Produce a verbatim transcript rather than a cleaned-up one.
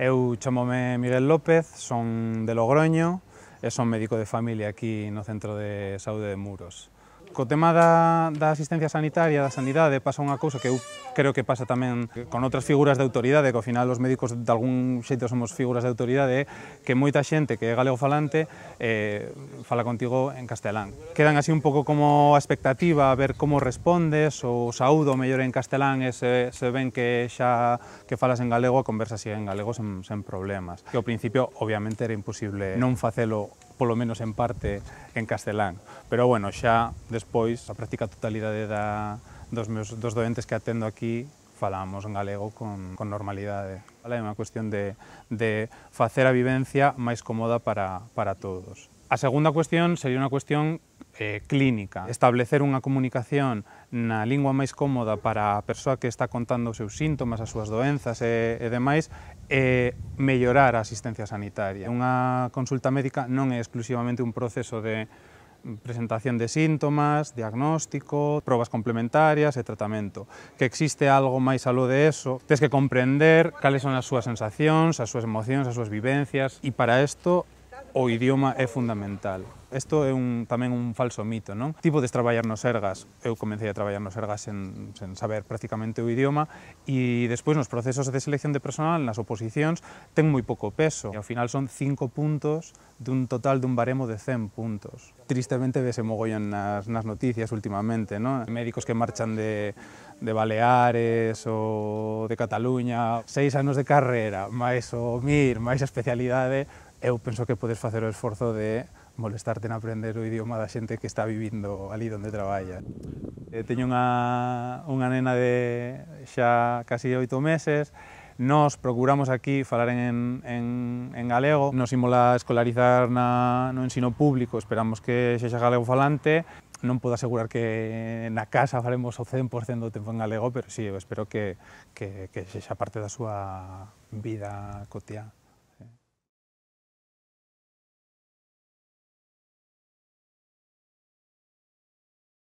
Eu chamome Miguel López, son de Logroño e son médico de familia aquí no Centro de Saúde de Muros. Co tema da, da asistencia sanitaria, da sanidade, pasa unha cousa que eu creo que pasa tamén con outras figuras de autoridade, que ao final os médicos de algún xeito somos figuras de autoridade, que moita xente que é galego falante eh, fala contigo en castelán. Quedan así un pouco como a expectativa a ver como respondes, ou saúdo mellor en castelán e se, se ven que xa que falas en galego, a conversa sigue en galego sen, sen problemas. Que ao principio, obviamente, era imposible non facelo polo menos en parte en castelán, pero bueno, xa despois a práctica totalidade da, dos, meus, dos doentes que atendo aquí falamos en galego con, con normalidade. É unha cuestión de, de facer a vivencia máis cómoda para, para todos. A segunda cuestión sería unha cuestión eh, clínica, establecer unha comunicación na lingua máis cómoda para a persoa que está contando os seus síntomas, as súas doenzas e, e demais, e mellorar a asistencia sanitaria. Unha consulta médica non é exclusivamente un proceso de presentación de síntomas, diagnóstico, probas complementarias e tratamento. Que existe algo máis aló de eso, tens que comprender cales son as súas sensacións, as súas emocións, as súas vivencias, e para isto o idioma é fundamental. Isto é un, tamén un falso mito, non? Ti podes traballar no Sergas, eu comecei a traballar no Sergas sen, sen saber prácticamente o idioma, e despois nos procesos de selección de personal, nas oposicións, ten moi pouco peso. E ao final son cinco puntos dun total dun baremo de cen puntos. Tristemente vese mogollón nas, nas noticias últimamente, non? Médicos que marchan de, de Baleares ou de Cataluña, seis anos de carreira, máis o MIR, máis a especialidade, eu penso que podes facer o esforzo de molestarte en aprender o idioma da xente que está vivindo ali onde traballa. Teño unha, unha nena de xa casi oito meses, nos procuramos aquí falar en, en, en galego, nos imola escolarizar na, no ensino público, esperamos que sexa galego falante. Non podo asegurar que na casa falemos o cen por cento do tempo en galego, pero sí, eu espero que, que, que sexa parte da súa vida cotiá.